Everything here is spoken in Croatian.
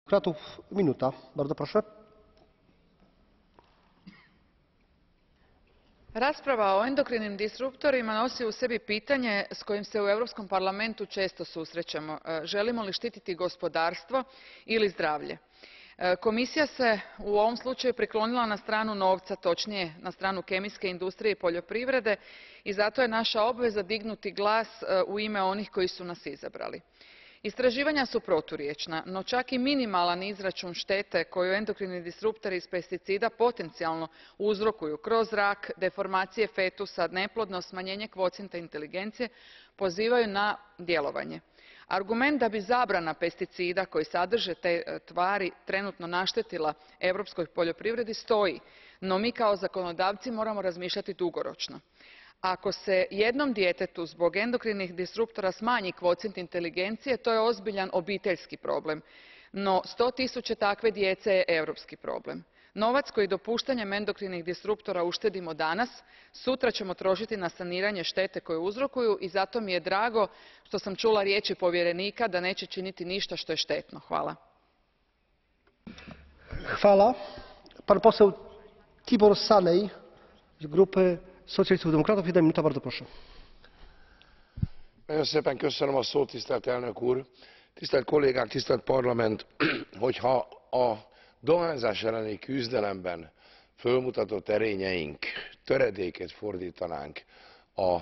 Kratów, minuta. Bardzo proszę. Rasprava o endokrinim disruptorima nosi u sebi pitanje s kojim se u Europskom parlamentu često susrećemo. Želimo li štititi gospodarstvo ili zdravlje? Komisija se u ovom slučaju priklonila na stranu novca, točnije na stranu kemijske industrije i poljoprivrede, i zato je naša obveza dignuti glas u ime onih koji su nas izabrali. Istraživanja su proturječna, no čak i minimalan izračun štete koju endokrini disruptori iz pesticida potencijalno uzrokuju kroz rak, deformacije fetusa, neplodnost, smanjenje kvocijenta inteligencije pozivaju na djelovanje. Argument da bi zabrana pesticida koji sadrže te tvari trenutno naštetila europskoj poljoprivredi stoji, no mi kao zakonodavci moramo razmišljati dugoročno. Ako se jednom djetetu zbog endokrinih disruptora smanji kvocijent inteligencije, to je ozbiljan obiteljski problem, no 100.000 takve djece je europski problem. Novac koji dopuštanjem endokrinih disruptora uštedimo danas, sutra ćemo trošiti na saniranje štete koju uzrokuju, i zato mi je drago što sam čula riječi povjerenika da neće činiti ništa što je štetno. Hvala. Hvala. Pan poseł Tibor Sanej z grupy Szocjalistów Demokratów. 1 minuta, bardzo proszę. Nagyon szépen köszönöm a szót, tisztelt elnök úr, tisztelt kollégák, tisztelt parlament. Hogyha a dohányzás elleni küzdelemben fölmutatott erényeink töredékét fordítanánk a